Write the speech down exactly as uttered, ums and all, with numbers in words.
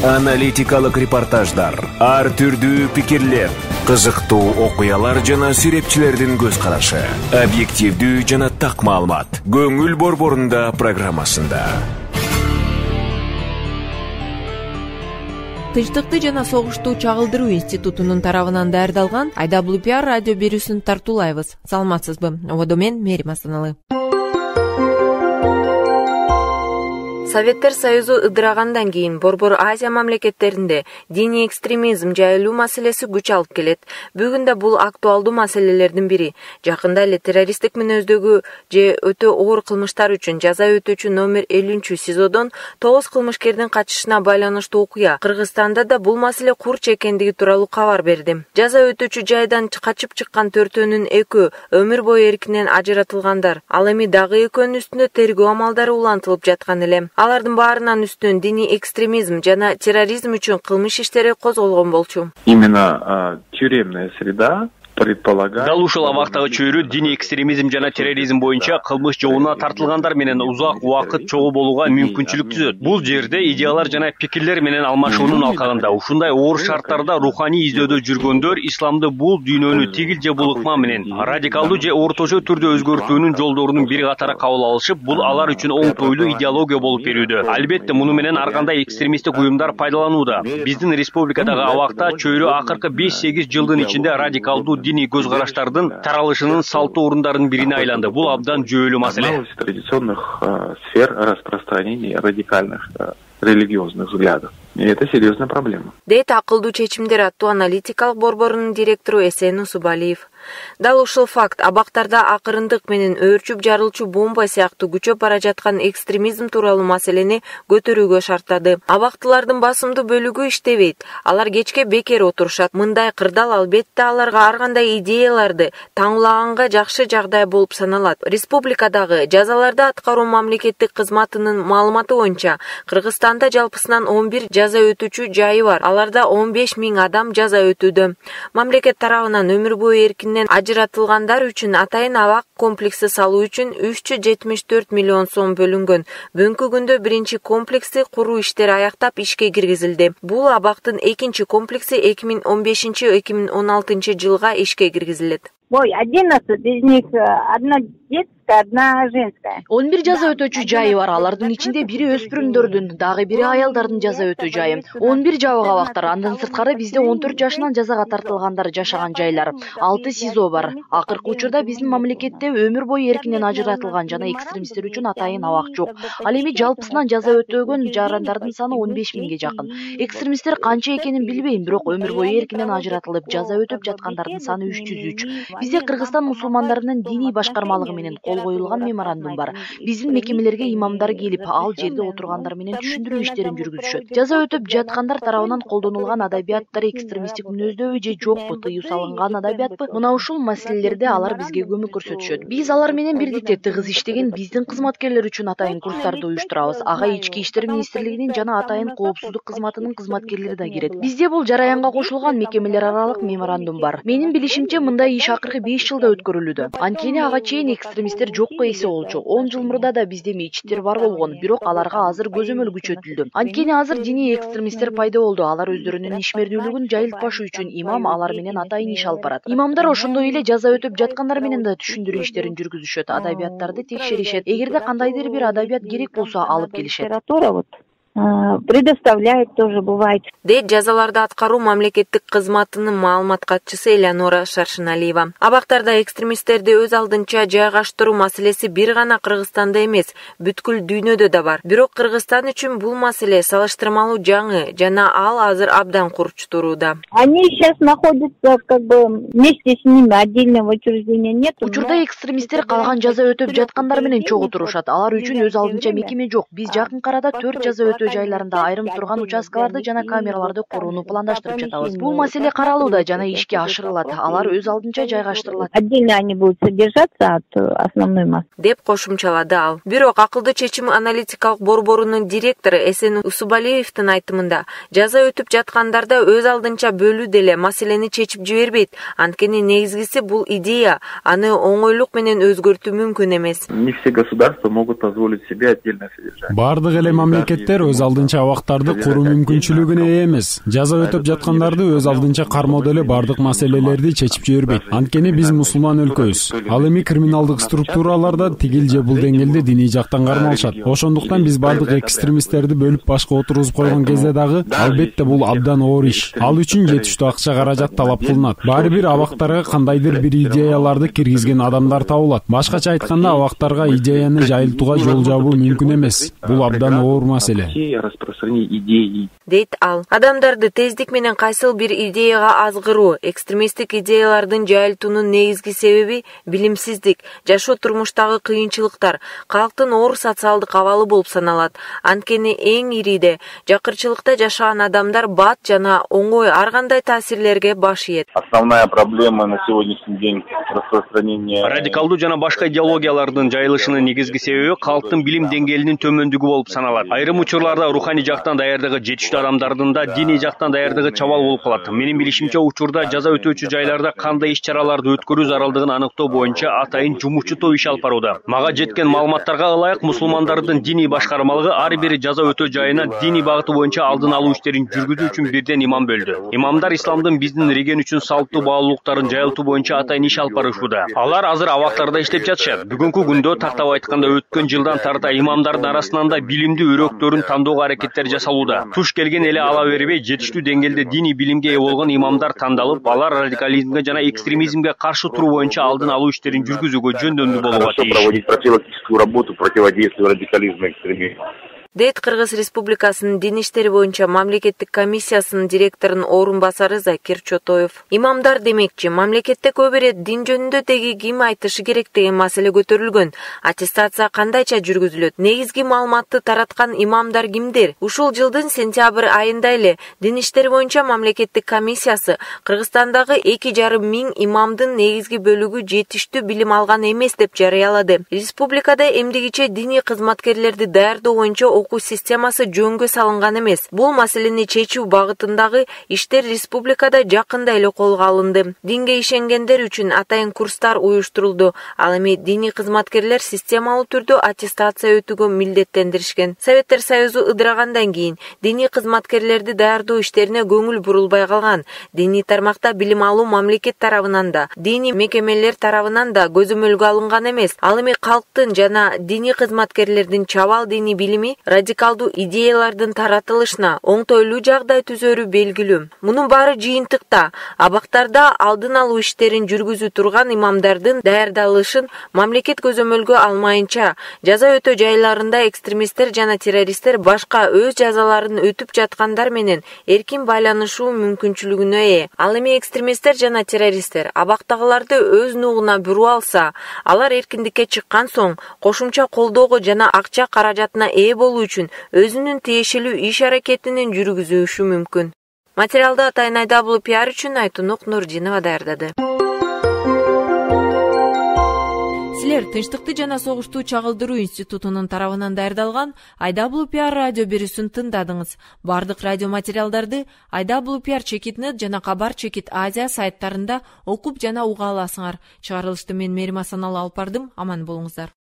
Аналитикалык репортаждар, ар түрдүү пикирлер, кызыктуу окуялар жана сүрөтчүлөрдүн көз карашы, объективдүү жана так маалымат. Көңүл борборунда программасында. Тынчтыкты жана согушту чагылдыруу институтунун тарабынан даярдалган ай дабл ю пи ар радио берүүсүн тартуулайбыз. Саламатсызбы? Ободо мен Мерим Астаналы. Советтер Союзу ыдырагандан кийин Борбор Азия мамлекеттеринде диний экстремизм жайылуу маселеси күч алып келет. Бүгүн да бул актуалдуу маселелердин бири. Жакында эле террористтик мүнөздөгү же өтө оор кылмыштар үчүн жаза өтөөчү номер элүүнчү СИЗОдон тогуз кылмышкердин качышына байланыштуу окуя Кыргызстанда да бул маселе курч экендиги тууралуу кабар берди. Жаза өтөөчү жайдан качып чыккан төртөөнүн экөө өмүр бою эркинен ажыратылгандар. Ал эми дагы экөөнүн үстүндө тергөө амалдары улантылып жаткан эле. Алардын баарынын үстүнөн диний экстремизм жана терроризм үчүн кылмыш иштери козголгон болчу. Именно тюремная среда предполагает. Дал ушул абактагы чөйрө диний экстремизм жана терроризм боюнча кылмыш жолуна тартылгандар менен узак убакыт чогуу болууга мүмкүнчүлүк түзөт. Бул жерде идеялар жана пикирлер менен алмашуунун алкагында ушундай оор шарттарда руханий издөдө жүргөндөр исламды бул дүйнөнү тигил же бул ыкма менен радикалдуу же орточо түрдө өзгөртүүнүн жолдорунун бири катары кабыл алышып, бул алар үчүн оңтойлуу идеология болуп берүүдө. Албетте, муну менен ар кандай экстремисттик уюмдар пайдаланууда. Биздин республикадагы абакта чөйрө акыркы беш-сегиз жылдын ичинде радикалдуу диний көз караштардын таралышынын салттуу орундарынын бирине айланды. Бул абдан жүйөлүү маселе. Традиционных сфер распространения радикальных религиозных взглядов. И это серьезная проблема. Дейт акылдуу чечимдер аттуу аналитикалык борборунун директору Эсен Усубалиев. Дал ушул факт абактарда акырындык менен өөрчүп жарылчу бомба сыяктуу күчөп бара жаткан экстремизм тууралуу маселени көтөрүүгө шарттады. Абактылардын басымдуу бөлүгү иштебейт. Алар кечке бекер отурушат. Мындай кырдаал албетте аларга ар кандай идеяларды таңуулаганга жакшы жагдай болуп саналат. Республикадагы жазаларды аткаруу мамлекеттик кызматынын маалыматы боюнча Кыргызстанда жалпысынан он бир жаза өтүүчү жайы бар. Аларда он беш миң адам жаза өтүүдө. Мамлекет тарабынан өмүр бою эркинен ажыратылгандар үчүн атайын абак комплекси салуу үчүн үч жүз жетимиш төрт миллион сом бөлүнгөн. Бүгүнкү күндө биринчи комплекси куруу иштери аяктап ишке киргизилди. Бул абактын экинчи комплекси эки миң он бешинчи — эки миң он алтынчы жылга ишке киргизилет. Ой, одиннадцать из них одна детская, одна женская. он бир жаза өтөөчү жайы бар. Алардын ичинде бири өспүрүмдөрдүн, дагы бири аялдардын жаза өтөө жайы. он бир жабык абактар. Андан сырткары бизде он төрт жашынан жазага тартылгандар жашаган жайлар. алты СИЗО бар. Акыркы учурда биздин мамлекетте өмүр бою эркинен ажыратылган жана экстремисттер үчүн атайын абак жок. Ал эми жалпысынан жаза өтөгөн жарандардын саны он беш миңге жакын. Экстремисттер канча экенин билбейм, бирок өмүр бою эркинен ажыратылып жаза өтөп жаткандардын саны үч жүз үч. Бизде Кыргызстан мусулмандарынын диний башкармалыгы менен кол коюлган меморандум бар. Биздин мекемелерге имамдар келип, ал жерде отургандар менен түшүндүрүү иштерин жүргүзүшөт. Жаза өтөп жаткандар тарабынан колдонулган адабияттар экстремисттик мүнөздөбү же жокпу, тыюу салынган адабиятпы? Мына ушул маселелерде алар бизге көмөк көрсөтүшөт. Биз алар менен бирдикте тыгыз иштеген биздин кызматкерлер үчүн атайын курстарды уюштурабыз. Ага Ички иштер министрлигинин жана атайын коопсуздук кызматынын кызматкерлери да кирет. Бизде бул жараянга кошулган мекемелер аралык меморандум бар. Менин билишимче, мындай иш акыркы беш жылда өткөрүлүүдө. Анткени ага чейин экстремисттер жокко эсе болчу. он жыл мурда да бизде мечиттер бар болгон, бирок аларга азыр көзөмөл күчөтүлдү. Анткени азыр диний экстремисттер пайда болду. Алар өздөрүнүн ишмердүүлүгүн жайылтпаш үчүн имам алар менен атайын иш алып барат. Имамдар ошондой эле жаза өтөп жаткандар менен да түшүндүрүү иштерин жүргүзүшөт, адабияттарды текшеришет. Эгерде кандайдыр бир адабият керек болсо алып келишет. Предоставляет тоже бывает. Дейт жазаларды аткаруу мамлекеттик кызматынын маалымат катчысы Элеонора Шаршыналиева. Абактарда экстремисттерди өз алдынча жайгаштыруу маселеси бир гана Кыргызстанда эмес, бүткүл дүйнөдө да бар. Бирок Кыргызстан үчүн бул маселе салыштырмалуу жаңы жана ал азыр абдан курч турууда. Они сейчас находятся как бы вместе с ними, отдельного учреждения нет. Учурда экстремисттер калган жаза өтөп жаткандар менен чогуу турушат. Алар үчүн өз алдынча мекеме жок. Биз жакын арада төрт жаза өтөө жайларында айрым турган участкаларды жана камераларды курууну пландаштырып жатабыз. Бул маселе каралууда жана ишке ашырылат. Алар өз алдынча жайгаштырылат. Отдельно они будут содержаться от основной массы. Деп кошумчалады ал. Бирок акылдуу чечим аналитикалык борборунун директору Эсен Усубалиевдин айтымында, жаза өтүп жаткандарда өз алдынча бөлүү деле маселени чечип жибербейт. Анткени негизгиси бул идея, аны оңойлук менен өзгөртүү мүмкүн эмес. Не все государства могут позволить себе отдельное содержание. Бардык эле мамлекеттер өз өз алдынча абактарды куруу мүмкүнчүлүгүнө ээ эмес. Жаза өтөп жаткандарды өз алдынча кармоо деле бардык маселелерди чечип жибербейт. Анткени биз мусулман өлкөбүз. Ал эми криминалдык структураларда тигил же бул деңгээлде диний жактан кармалышат. Ошондуктан биз бардык экстремисттерди бөлүп башка отургузуп койгон кезде дагы албетте бул абдан оор иш. Ал үчүн жетиштүү акча каражат талап кылынат. Баары бир абактарга кандайдыр бир идеяларды киргизген адамдар табылат. Башкача айтканда, абактарга идеяны жайылтууга жол жабуу мүмкүн эмес. Бул абдан оор маселе. Дейт ал. Адамдарды тездик менен кайсыл бир идеяга азгыруу, экстремисттик идеялардын жайылтуунун негизги себеби билимсиздик, жашоо турмуштагы кыйынчылыктар, калктын оор социалдык абалы болуп саналат. Анткени эң ириде жакырчылыкта жашаган адамдар бат жана оңой ар кандай таасирлерге баш ийет. Основная проблема на сегодняшний день распространения радикалдуу жана башка идеологиялардын жайылышынын негизги себеби калктын билим деңгээлинин төмөндүгү болуп саналат. Айрым учурларда руханий жактан даярдыгы жетиштүү адамдардын да диний жактан даярдыгы чабал болуп калат. Менин билишимче, учурда жаза өтөөчү жайларда кандай иш-чараларды өткөрүү зарылдыгын аныктоо боюнча атайын жумушчу топ иш алып барууда. Мага жеткен маалыматтарга ылайык, мусулмандардын диний башкармалыгы ар бир жаза өтөө жайына диний багыты боюнча алдын алуу иштерин жүргүзүү үчүн бирден имам бөлдү. Имамдар исламдын биздин реген үчүн салттуу баалуулуктарын жайылтуу боюнча атайын иш алып барышууда. Алар азыр абактарда иштеп жатышат. Бүгүнкү күндө тактап айтканда өткөн жылдан тарта имамдардын арасынан да билимдүү өрөктөрүн тандоого аракеттер жасалууда. Туш келген эле ала бербей, жетиштүү деңгээлде диний билимге ээ болгон имамдар тандалып, алар радикализмге жана экстремизмге каршы туруу боюнча алдын алуу иштерин жүргүзүүгө жөндөмдүү болууга тийиш. Дейт Кыргыз Республикасынын Дин иштери боюнча мамлекеттик комиссиясынын директорунун орун басары Закир Чотоев. Имамдар демекчи, мамлекетте көп ирет дин жөнүндө теги ким айтышы керек деген маселе көтөрүлгөн. Аттестация кандайча жүргүзүлөт? Негизги маалыматты тараткан имамдар кимдер? Ушул жылдын сентябрь айында эле Дин иштери боюнча мамлекеттик комиссиясы Кыргызстандагы эки жарым миң имамдын негизги бөлүгү жетиштүү билим алган эмес деп жарыялады. Республикада эмдигиче диний кызматкерлерди даярдоо боюнча окуу системасы жөнгө салынган эмес. Бул маселени чечүү багытындагы иштер республикада жакында эле колго алынды. Динге ишенгендер үчүн атайын курстар уюштурулду. Ал эми диний кызматкерлер системалуу түрдө аттестация өтүүгө милдеттендиришкен. Советтер Союзу ыдырагандан кийин диний кызматкерлерди даярдоо иштерине көңүл бурулбай калган. Диний тармакта билим алуу мамлекет тарабынан да, диний мекемелер тарабынан да көзөмөлгө алынган эмес. Ал эми калктын жана диний кызматкерлердин чабал диний билими радикалдуу идеялардын таратылышына оңтойлуу жагдай түзөрү белгилүү. Мунун баары жыйынтыкта абактарда алдын алуу иштерин жүргүзүү турган имамдардын даярдалышын мамлекет көзөмөлгө алмайынча, жаза өтөө жайларында экстремисттер жана террористтер башка өз жазаларын өтүп жаткандар менен эркин байланышуу мүмкүнчүлүгүнө ээ. Ал эми экстремисттер жана террористтер абактагыларды өз нугуна буруу алса, алар эркиндикке чыккан соң кошумча колдоого жана акча каражатына ээ болуу үчүн өзүнүн тиешелүү иш аракетинин жүргүзүшү мүмкүн. Материалды атайын ай дабл ю пи ар үчүн Айтунук Нурдинова даярдады. Силер Тынчтыкты жана согушту чагылдыруу институтунун тарабынан даярдалган ай дабл ю пи ар радио берүүсүн тыңдадыңыз. Бардык радио материалдарды ай дабл ю пи ар чекит нет жана Кабар чекит Азия сайттарында окуп жана уга аласыңар. Чыгарылышты мен Мерим Асаналы алып бардым. Аман болуңуздар.